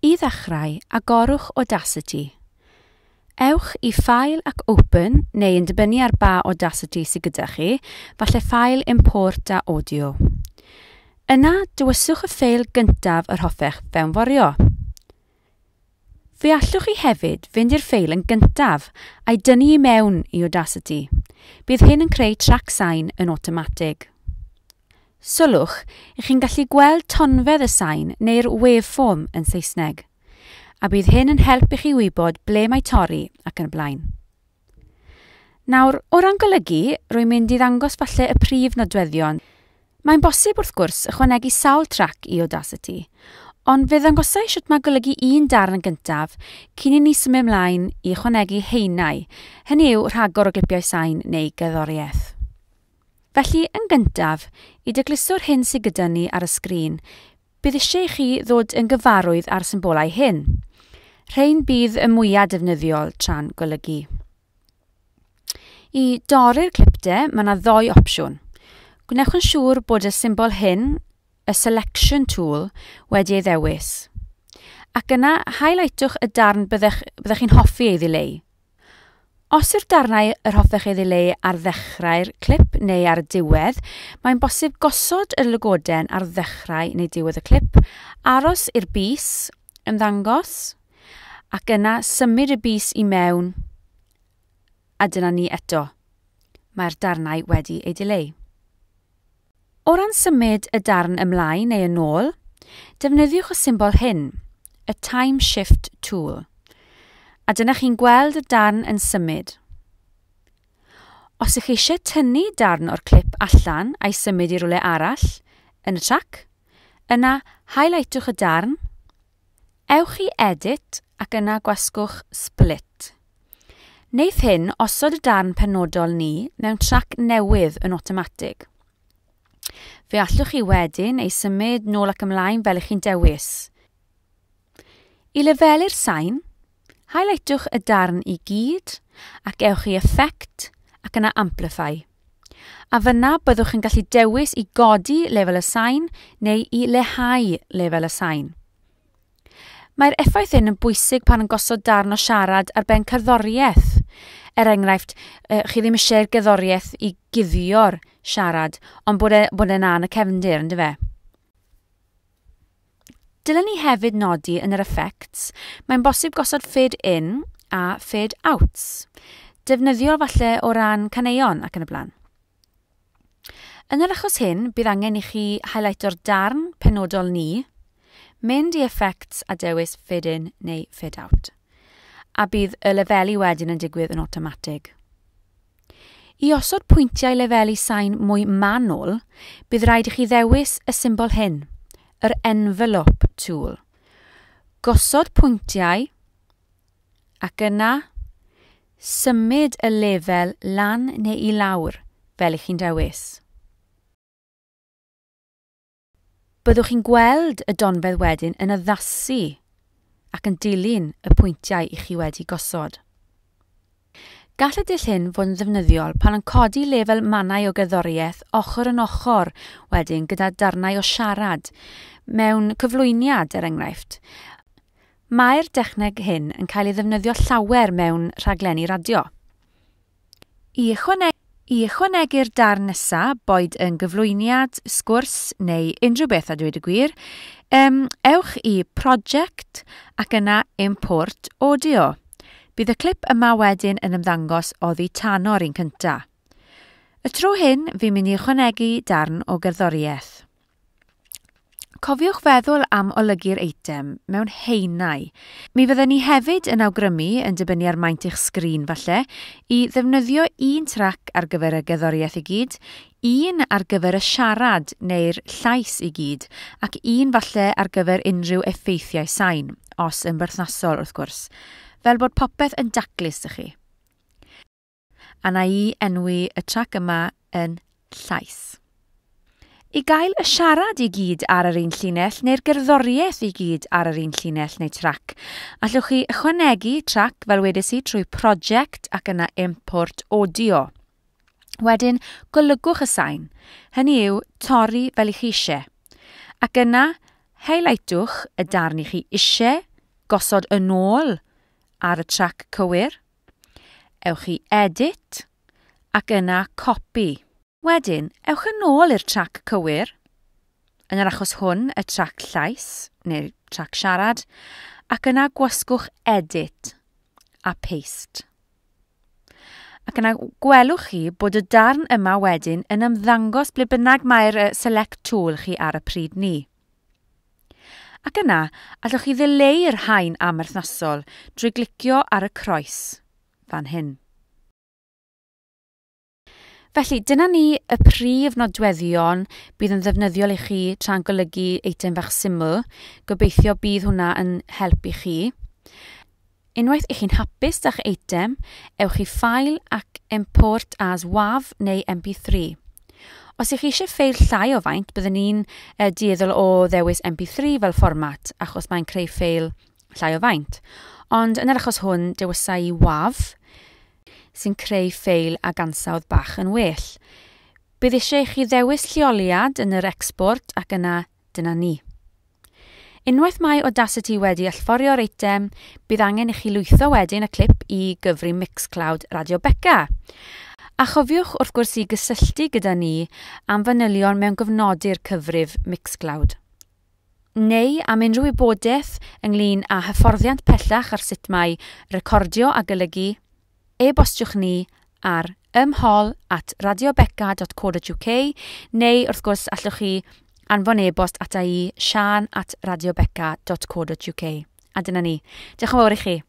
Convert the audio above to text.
I ddechrau, agorwch Audacity. Ewch i File ac Open, neu yn dibynnu ar ba Audacity sydd gyda chi, falle File, Import a Audio. Yna, dewiswch y ffeil gyntaf yr hoffech fewnforio. Fe allwch chi hefyd fynd i'r ffeil yn gyntaf a'i dynnu i mewn i Audacity. Bydd hyn yn creu trac sain yn awtomatig. Sylwch, i chi'n gallu gweld tonfedd y sain neu'r waveform yn Saesneg, a bydd hyn yn help i chi wybod ble mae torri ac yn y blaen. Nawr, o ran golygu, rwy'n mynd i ddangos falle y prif nodweddion. Mae'n bosib wrth gwrs ychwanegu sawl trac i Audacity, ond fe ddangosai sut mae golygu un darn yn gyntaf cyn i ni symud ymlaen i ychwanegu haenau, hynny yw rhagor o glipiau sain neu gerddoriaeth. Felly, yn gyntaf, i dacluso'r hyn sydd gyda ni ar y sgrin, bydd eisiau i chi ddod yn gyfarwydd â'r symbolau hyn. Rhain bydd y mwyaf defnyddiol tra'n golygu. I dorri'r clip de, mae yna ddou opsiwn. Gwnewch yn siŵr bod y symbol hyn, y selection tool, wedi ei ddewis. Ac yna, highlightwch y darn byddech chi'n hoffi ei ddileu. Os yw'r darnau yr hoffech ei ddileu ar ddechrau'r clip neu ar y diwedd, mae'n bosib gosod y lygoden ar ddechrau neu diwedd y clip, aros i'r bys ymddangos, ac yna symud y bys i mewn, a dyna ni eto. Mae'r darnau wedi ei dileu. O ran symud y darn ymlaen neu yn ôl, defnyddiwch y symbol hyn, y Time Shift Tool. A dyna chi'n gweld y darn yn symud. Os ych chi eisiau tynnu darn o'r clip allan a'i symud i rywle arall yn y trac, yna highlightwch y darn, ewch i Edit ac yna gwasgwch Split. Wneith hyn osod y darn penodol ni mewn trac newydd yn awtomatig. Fe allwch chi wedyn ei symud nôl ac ymlaen fel ych chi'n dewis. I lefelu'r sain, highlightwch y darn i gyd ac ewch i Effect ac yna Amplify. A fyna byddwch yn gallu dewis i godi lefel y sain neu i leihau lefel y sain. Mae'r effaith hyn yn bwysig pan yn gosod darn o siarad ar ben cerddoriaeth. Er enghraifft, chi ddim eisiau'r gerddoriaeth i guddio'r siarad, ond bod e'n yn y cefndir, ynddo fe? Dylen ni hefyd nodi yn yr effects, mae'n bosib gosod fade in a fade outs. Defnyddiol falle o ran caneuon ac yn y blaen. Yn yr achos hyn, bydd angen i chi highlighto'r darn penodol ni, mynd i effects a dewis fade in neu fade out. A bydd y lefelu wedyn yn digwydd yn awtomatig. I osod pwyntiau lefelu sain mwy manwl, bydd rhaid i chi ddewis y symbol hyn, yr envelope tool. Gosod pwyntiau ac yna symud y lefel lan neu i lawr fel ych chi'n dewis. Byddwch chi'n gweld y donfedd wedyn yn addasu ac yn dilyn y pwyntiau i chi wedi gosod. Gall y dull hyn fod yn ddefnyddiol pan yn codi lefel mannau o gerddoriaeth ochr yn ochr wedyn gyda darnau o siarad, mewn cyflwyniad er enghraifft. Mae'r dechneg hyn yn cael ei ddefnyddio llawer mewn rhaglenni radio. I ychwanegu'r darn nesaf, boed yn gyflwyniad, sgwrs neu unrhyw beth a dweud y gwir, ewch i Project ac yna Import Audio. Bydd y clip yma wedyn yn ymddangos oddi tano'r un cyntaf. Y tro hyn, fi'n mynd i ychwanegu darn o gerddoriaeth. Cofiwch feddwl am olygu'r eitem mewn haenau. Mi fydden ni hefyd yn awgrymu, yn dibynnu ar maint eich sgrin falle, i ddefnyddio un trac ar gyfer y gerddoriaeth i gyd, un ar gyfer y siarad neu'r llais i gyd, ac un falle ar gyfer unrhyw effeithiau sain, os yn berthnasol wrth gwrs, fel bod popeth yn daclus i chi. A na i enwi y trac yma yn llais. I gael y siarad i gyd ar yr un llinell neu'r gerddoriaeth i gyd ar yr un llinell neu trac, allwch chi ychwanegu trac fel wedes i trwy Project ac yna Import Audio. Wedyn, golygwch y sain, hynny yw torri fel i chi eisiau. Ac yna, highlightwch y darn i chi eisiau gosod yn ôl ar y trac cywir. Ewch i Edit ac yna Copy. Wedyn, ewch yn ôl i'r trac cywir, yn yr achos hwn y trac llais neu'r trac siarad, ac yna gwasgwch Edit a Paste. Ac yna gwelwch chi bod y darn yma wedyn yn ymddangos ble bynnag mae'r Select Tool chi ar y pryd ni. Ac yna, allwch chi ddileu'r haen amherthnasol drwy glicio ar y croes fan hyn. Felly, dyna ni y prif nodweddion bydd yn ddefnyddiol i chi tra'n golygu eitem fach syml. Gobeithio bydd hwnna yn help i chi. Unwaith i chi'n hapus da'ch eitem, ewch i File ac Import as WAV neu MP3. Os ych chi eisiau ffeil llai o faint, byddwn ni'n dueddol o ddewis MP3 fel fformat, achos mae'n creu ffeil llai o faint. Ond yn yr achos hwn, dewisa i WAV, sy'n creu ffeil ag ansawdd bach yn well. Bydd eisiau i chi ddewis lleoliad yn yr export ac yna dyna ni. Unwaith mae Audacity wedi allforio'r eitem, bydd angen i chi lwytho wedyn y clip i gyfri Mixcloud Radio Beca. A chofiwch wrth gwrs i gysylltu gyda ni am fanylion mewn gofnodi'r cyfrif Mixcloud. Neu am unrhyw wybodaeth ynglyn â hyfforddiant pellach ar sut mae recordio a golygu, e-bostiwch ni ar ymhol@radiobeca.co.uk neu wrth gwrs allwch chi anfon e-bost ata i sian@radiobeca.co.uk. A dyna ni. Diolch yn fawr i chi.